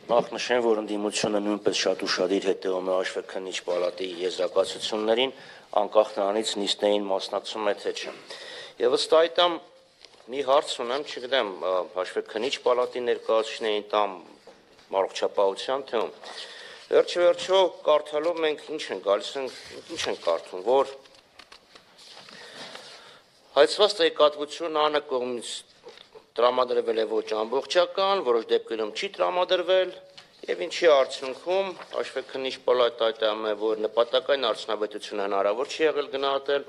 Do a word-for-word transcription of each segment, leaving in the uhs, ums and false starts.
Նախ նշեմ, որ ընդդիմությունը նույնպես շատ ուշադիր հետևում է Հաշվեկնիչ պալատի եզրակացություններին, անկախ նրանից նիստերին մասնակցում է թե չէ։ Եվ ըստ այդմ մի հարց ունեմ, չգիտեմ, Հաշվեկնիչ պալատի ներկայացուցիչներին տամ առողջապահության թեում։ Վերջի վերջո կարդալով մենք ինչ ենք գալիս, ինչ ենք կարդում, որ հայցված տեղեկատվությունը ԱՆ կողմից տրամադրվել է ոչ ամբողջական, որոշ դեպքերում չի տրամադրվել, եւ ինչի արդյունքում Հաշվեկնիչ պալատը հայտարարում է, որ նպատակային արդյունավետությունը հնարավոր չի եղել գնահատել,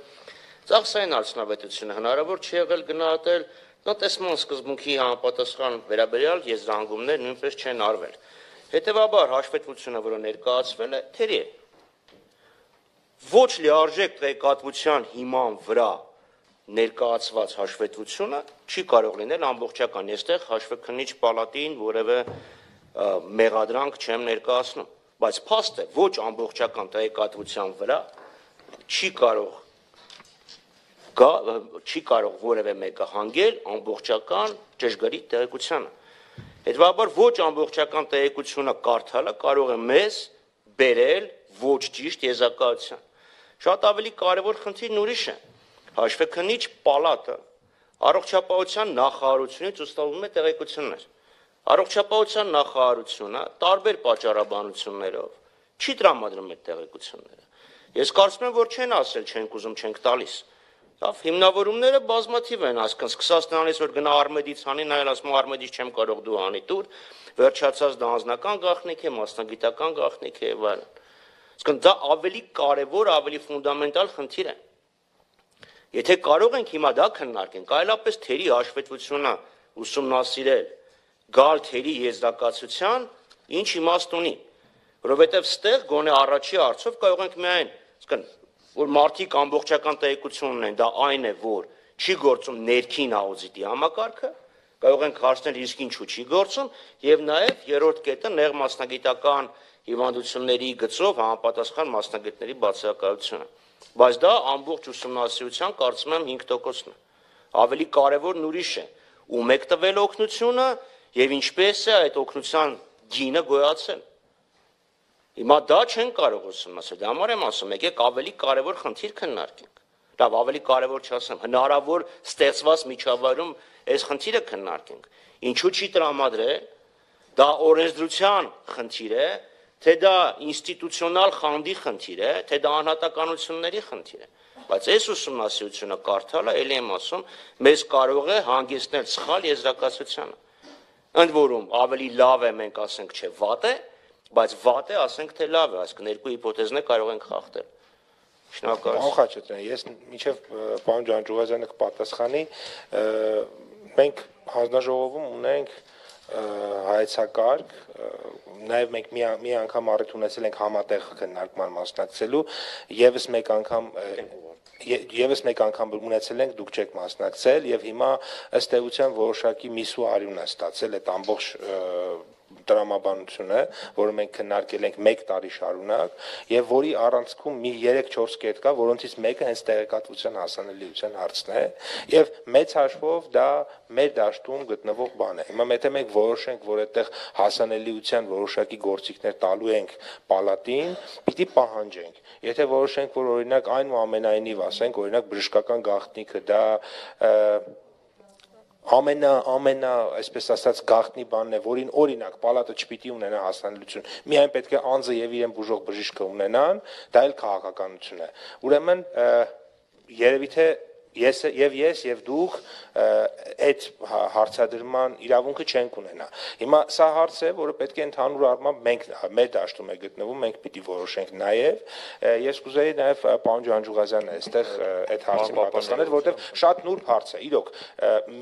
ծախսային արդյունավետությունը հնարավոր չի եղել գնահատել, տնտեսման սկզբունքի համապատասխան վերաբերյալ եզրահանգումներ նույնպես չեն արվել։ Հետևաբար հաշվետվությունը, որը ներկայացվել է, թերի է։ Ոչ լիարժեք տեղեկատվության հիման վրա ներկայացված հաշվետվությունը չի կարող լինել ամբողջական։ Այստեղ Հաշվեկնիչ պալատին որևէ մեղադրանք չեմ ներկայացնում, բայց փաստ է ոչ ամբողջական տեղեկատվության վրա չի կարող գա չի կարող որևէ մեկը հանգել ամբողջական ճշգրիտ տեղեկությանը։ Հետևաբար ոչ ամբողջական տեղեկությունը կարդալը կարող է մեզ բերել ոչ ճիշտ եզրակացության։ Շատ ավելի կարևոր խնդիրն ուրիշ է։ Հաշվեկնիչ պալատը առողջապահության նախարարությունից ստանում է տեղեկություններ։ Առողջապահության նախարարությունը տարբեր պատճառաբանություններով չի տրամադրում այդ տեղեկությունները։ Ես կարծում եմ, որ չեն ասել, չենք ուզում, չենք տալիս։ Լավ, հիմնավորումները բազմաթիվ են, այսինքն սկսած նրանից, որ գնա Արմեդից անի, նայել ասում Արմեդից չեմ կարող դու անի տուր, վերջացած դա անձնական գաղտնիք է, մասնագիտական գաղտնիք է եւ այլն։ Այսինքն դա ավելի կարևոր, ավելի ֆունդամենտալ խնդիր է։ Եթե կարող ենք հիմա դա քննարկենք, այլապես թերի հաշվետվությունը ուսումնասիրել, գալ թերի եզրակացության, ինչ իմաստ ունի, որովհետև ստեղ գոնե առաջի հարցով կարող ենք միայն, այսինքն, որ մարդիկ ամբողջական տեղեկություն ունեն, դա այն է, որ չի գործում ներքին աուդիտի համակարգը, կարող ենք հարցնել իսկ ինչու չի գործում, եւ նաեւ երրորդ կետը նեղ մասնագիտական հիվանդությունների գծով համապատասխան մասնագետների բացակայությունը։ Բայց դա ամբողջ ուսումնասիրության կարծում եմ հինգ տոկոսն է։ Ավելի կարևորն ուրիշ է, ում եք տվել օգնությունը եւ ինչպես է այդ օգնության գինը գոյացել։ Հիմա դա չեն կարող ուսումնասիրել, դա համար եմ ասում, եկեք ավելի կարևոր խնդիր քննարկենք։ Լավ, ավելի կարևոր չասեմ, հնարավոր ստեղծված միջավայրում այս խնդիրը քննարկենք։ Ինչու չի տրամադրել, դա օրենսդրության խնդիր է, թե դա ինստիտուցիոնալ խանդի խնդիր է, թե դա անհատականությունների խնդիր է։ Բայց այս ուսումնասիրությունը կարդալը, ելի եմ ասում, մեզ կարող է հանգեցնել սխալ եզրակացությանը։ Ընդ որում ավելի լավ է մենք ասենք, չէ, վատ է, բայց վատ է ասենք, թե լավ է, այսինքն երկու հիպոթեզներ կարող ենք խախտել։ Շնորհակալ եմ։ Խաչատրյան, ես մինչև պարոն Ջանջուղազյանը կպատասխանի, մենք հանձնաժողովում ունենք հայեցակարգ, նաև մենք մի, մի անգամ առիթ ունեցել ենք համատեղ քննարկման մասնակցելու, եւս մեկ անգամ Եվս մեկ անգամ ունեցել ենք, դուք չեք մասնակցել եւ հիմա ըստ էության որոշակի միսու արյուն է ստացել այդ ամբողջ տրամաբանությունը, որը մենք քննարկել ենք մեկ տարի շարունակ եւ որի առանցքում մի երեք-չորս կետ կա, որոնցից մեկը հենց տեղեկատվության հասանելիության հարցն է եւ մեծ հաշվով դա մեր դաշտում գտնվող բան է։ Հիմա եթե մենք որոշենք, որ այդտեղ հասանելիության որոշակի գործիքներ տալու ենք պալատին, պիտի պահանջենք։ Եթե որոշենք, որ օրինակ այնուամենայնիվ ասենք, օրինակ բժշկական գաղտնիքը դա ամենա ամենա այսպես ասած գաղտնի բանն է, որին օրինակ պալատը չպիտի ունենա հասանելիություն, միայն պետք է անձը եւ իրեն բուժող բժիշկը ունենան, դա էլ քաղաքականություն է։ Ուրեմն երևի թե ես եւ ես եւ դուք այդ հարցադրման իրավունքը չենք ունենա։ Հիմա սա հարց է, որը պետք է ընդհանուր առմամբ մենք մեր դաշտում է գտնվում, մենք պիտի որոշենք նաեւ։ Ես կուզեի նաեւ պարոն Ջանջուղազյանը այստեղ այդ հարցին պատասխանել, որովհետեւ շատ նուրբ հարց է։ Իրոք,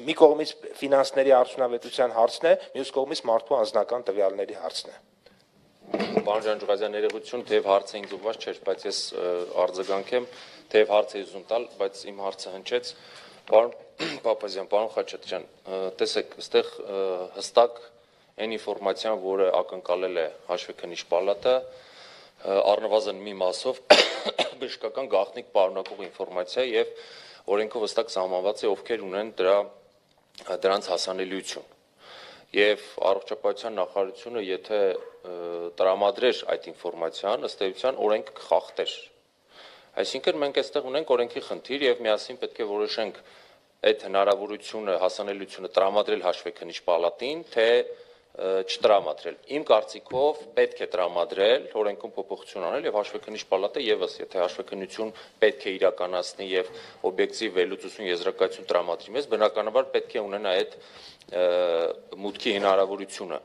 մի կողմից ֆինանսների արդյունավետության հարցն է, մյուս կողմից մարդու անձնական տվյալների հարցն է։ Պարոն Ջանջուղազյան, ներողություն, թեև հարցը ինձ ուղղված չէր, բայց ես արձագանքեմ, թեև հարցը ուզում տալ, բայց իմ հարցը հնչեց։ Պարոն Պապազյան, պարոն Խաչատրյան, տեսեք, այստեղ հստակ այն ինֆորմացիան, որը ակնկալել է Հաշվեկնիչ պալատը, առնվազն մի մասով բժշկական գաղտնիք պարունակող ինֆորմացիա եւ օրենքով հստակ սահմանված է ովքեր ունեն դրա դրանց հասանելիություն։ եւ առողջապահության նախարարությունը եթե տրամադրեր այդ ինֆորմացիան, ըստ էության օրենքը կխախտեր։ Այսինքն մենք այստեղ ունենք օրենքի խնդիր եւ միասին պետք է որոշենք այդ հնարավորությունը, հասանելիությունը տրամադրել հաշվեկնիչ պալատին, թե չտրամադրել։ Իմ կարծիքով պետք է տրամադրել, օրենքում փոփոխություն անել եւ հաշվեկնիչ պալատը եւս, եթե հաշվեկնություն պետք է իրականացնի եւ օբյեկտիվ վերլուծություն եզրակացություն տրամադրի մեզ, բնականաբար պետք է ունենա այդ մուտքի հնարավորությունը։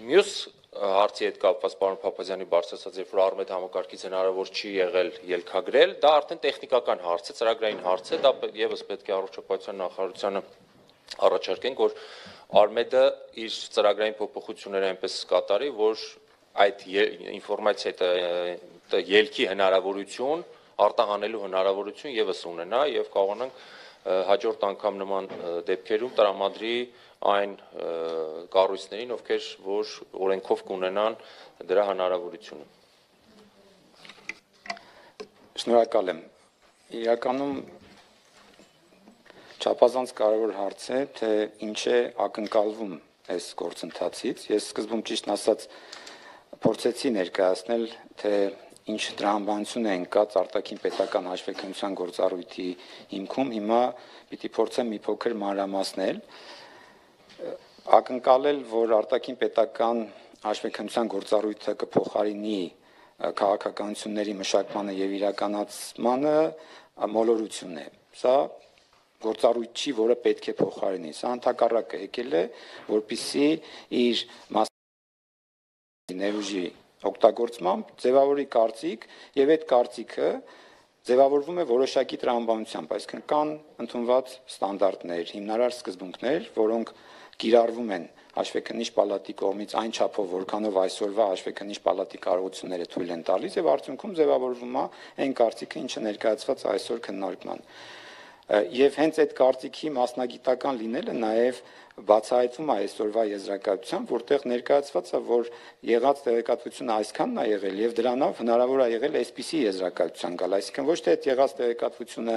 Մյուս հարցի հետ կապված պարոն Փափազյանի բարձրացած, երբ որ Արմեդ համակարգից հնարավոր չի եղել ելքագրել, դա արդեն տեխնիկական հարց է, ծրագրային հարց է, դա եւս պետք է առողջապահության նախարարությանը առաջարկենք, որ Արմեդը իր ծրագրային փոփոխությունները այնպես կատարի, որ այդ ինֆորմացիայի ելքի հնարավորություն, արտահանելու հնարավորություն եւս ունենա եւ կարողանանք հաջորդ անգամ նման դեպքերում տրամադրի այն կառույցներին, ովքեր որ օրենքով կունենան դրա հնարավորությունը։ Շնորհակալ եմ։ Իրականում չափազանց կարևոր հարց է, թե ինչ է ակնկալվում այս գործընթացից։ Ես սկզբում ճիշտ ասած փորձեցի ներկայացնել, թե ինչ տրամաբանություն է ընկած արտաքին պետական հաշվեկնության գործառույթի հիմքում, հիմա պիտի փորձեմ մի փոքր մանրամասնել, ակնկալել, որ արտաքին պետական հաշվեկնության գործառույթը կփոխարինի քաղաքականությունների մշակմանը եւ իրականացմանը մոլորություն է։ Սա գործառույթ չի, որը պետք է փոխարինի։ Սա ընդհակառակը եկել է, որպեսզի իր ներուժի օգտագործմամբ ձևավորի կարծիք եւ այդ կարծիքը ձևավորվում է որոշակի տրամաբանությամբ, այսինքն կան ընդունված ստանդարտներ, հիմնարար սկզբունքներ, որոնք կիրառվում են հաշվեկնիչ պալատի կողմից այն չափով, որքանով այսօրվա հաշվեկնիչ պալատի կարողությունները թույլ են տալիս եւ արդյունքում ձևավորվում է այն կարծիքը, ինչը ներկայացված է այսօր քննարկման։ Եվ հենց այդ կարծիքի մասնագիտական լինելը նաեւ բացահայտվում է այսօրվա եզրակացությամբ, որտեղ ներկայացված է, որ եղած տեղեկատվությունը այսքանն է եղել եւ դրանով հնարավոր է եղել այսպիսի եզրակացության գալ, այսինքն ոչ թե այդ եղած տեղեկատվությունը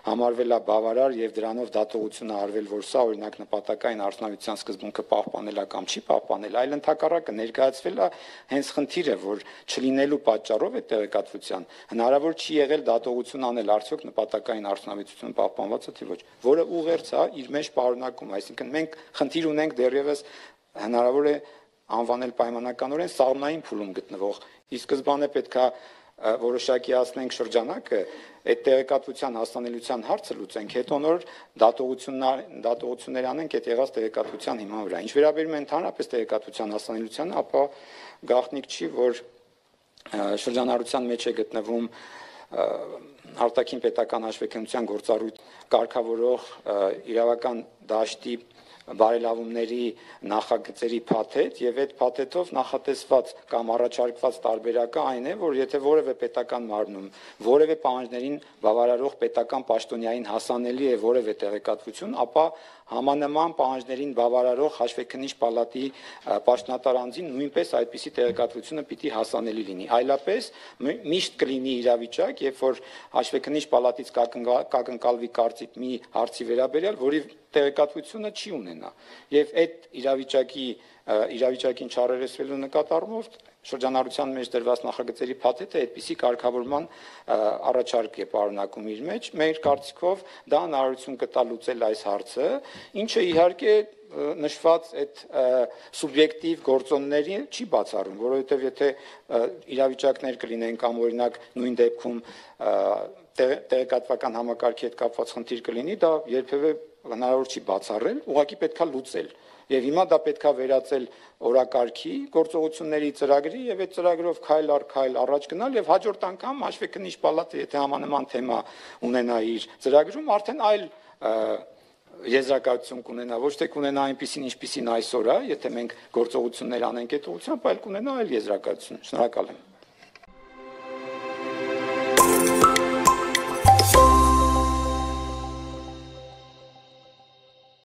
համարվել է բավարար եւ դրանով դատողությունը արվել, որ սա օրինակ նպատակային արդյունավետության սկզբունքը պահպանել է կամ չի պահպանել, այլ ընդհակառակը ներկայացվել է հենց խնդիրը, որ չլինելու պատճառով այդ տեղեկատվության հնարավոր չի եղել դատողություն անել, արդյոք նպատակային արդյունավետությունը պահպանված է թե ոչ, որը ուղերձ է իր մեջ պարունակում, այսինքն մենք խնդիր ունենք դեռևս հնարավոր է անվանել պայմանականորեն սաղմնային փուլում գտնվող, ի սկզբանե պետք է որոշակիացնենք շրջանակը, այդ տեղեկատվության հասանելիության հարցը լուծենք, հետո նոր դատողություններ անենք այդ եղած տեղեկատվության հիման վրա։ Ինչ վերաբերում է ընդհանրապես տեղեկատվության հասանելիությանը, ապա գաղտնիք չի, որ շրջանառության մեջ է գտնվում արտաքին պետական հաշվեկնության գործառույթ կարգավորող իրավական դաշտի բարելավումների նախագծերի փաթեթ եւ այդ փաթեթով նախատեսված կամ առաջարկված տարբերակը այն է, որ եթե որևէ պետական մարմնում որևէ պահանջներին բավարարող պետական պաշտոնյային հասանելի է որևէ տեղեկատվություն, ապա համանման պահանջներին բավարարող հաշվեկնիչ պալատի պաշտոնատար անձին նույնպես այդպիսի տեղեկատվությունը պիտի հասանելի լինի։ Այլապես միշտ կլինի իրավիճակ, երբ որ հաշվեկնիչ պալատից կակնկալվի կարծիք մի հարցի վերաբերյալ, որի տեղեկատվությունը չի ունենա։ Եվ այդ իրավիճակի իրավիճակին չարերեսվելու նկատառումով շրջանառության մեջ դրված նախագծերի փաթեթը այդպիսի կարգավորման առաջարկ է պարունակում իր մեջ։ Մեր կարծիքով դա հնարավորություն կտա լուծել այս հարցը, ինչը իհարկե նշված այդ սուբյեկտիվ գործոնների չի բացառում, որովհետև եթե իրավիճակներ կլինեն կամ օրինակ նույն դեպքում տեղեկատվական համակարգի հետ կապված խնդիր կլինի, դա երբևէ հնարավոր չի բացառել, ուղղակի պետքա լուծել։ Եվ հիմա դա պետքա վերածել օրակարգի, գործողությունների ծրագրի եւ այդ ծրագրով քայլ առ քայլ առաջ գնալ եւ հաջորդ անգամ հաշվեկնիչ պալատը, եթե համանման թեմա ունենա իր ծրագրում, արդեն այլ եզրակացություն կունենա, ոչ թե կունենա այնպիսին, ինչպիսին այսօր է, եթե մենք գործողություններ անենք այդ ուղղությամբ, այլ կունենա այլ եզրակացություն։ Շնորհակալ եմ։